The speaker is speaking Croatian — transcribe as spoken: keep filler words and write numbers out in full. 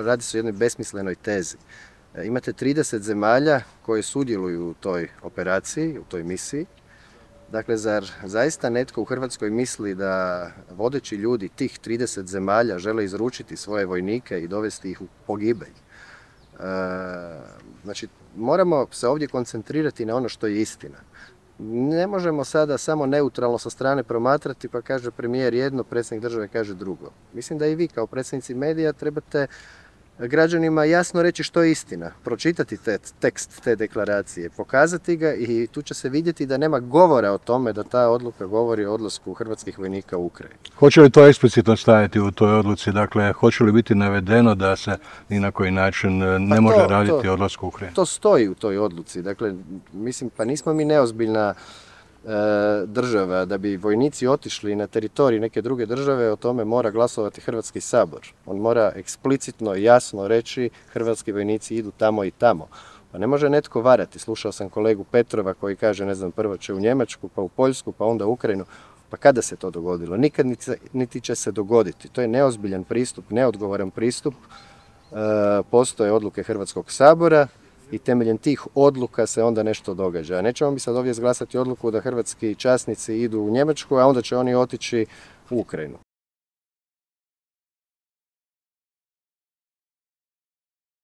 radi se o jednoj besmislenoj tezi. Imate trideset zemalja koje sudjeluju u toj operaciji, u toj misiji. Dakle, zar zaista netko u Hrvatskoj misli da vodeći ljudi tih trideset zemalja žele izručiti svoje vojnike i dovesti ih u pogibelj? E, znači, moramo se ovdje koncentrirati na ono što je istina. Ne možemo sada samo neutralno sa strane promatrati pa kaže premijer jedno, predsjednik države kaže drugo. Mislim da i vi kao predsjednici medija trebate građanima jasno reći što je istina, pročitati te, tekst te deklaracije, pokazati ga i tu će se vidjeti da nema govora o tome da ta odluka govori o odlasku hrvatskih vojnika u Ukrajinu. Hoće li to eksplicitno stajati u toj odluci? Dakle, hoće li biti navedeno da se ni na koji način ne pa može to, raditi o odlasku u Ukrajinu? To stoji u toj odluci. Dakle, mislim, pa nismo mi neozbiljna država, da bi vojnici otišli na teritorij neke druge države, o tome mora glasovati Hrvatski sabor. On mora eksplicitno i jasno reći hrvatski vojnici idu tamo i tamo. Pa ne može netko varati. Slušao sam kolegu Petrova koji kaže, ne znam, prvo će u Njemačku, pa u Poljsku, pa onda u Ukrajinu. Pa kada se to dogodilo? Nikad niti će se dogoditi. To je neozbiljan pristup, neodgovoran pristup. Postoje odluke Hrvatskog sabora i temeljem tih odluka se onda nešto događa. Nećemo mi sad ovdje izglasati odluku da hrvatski časnici idu u Njemačku, a onda će oni otići u Ukrajinu.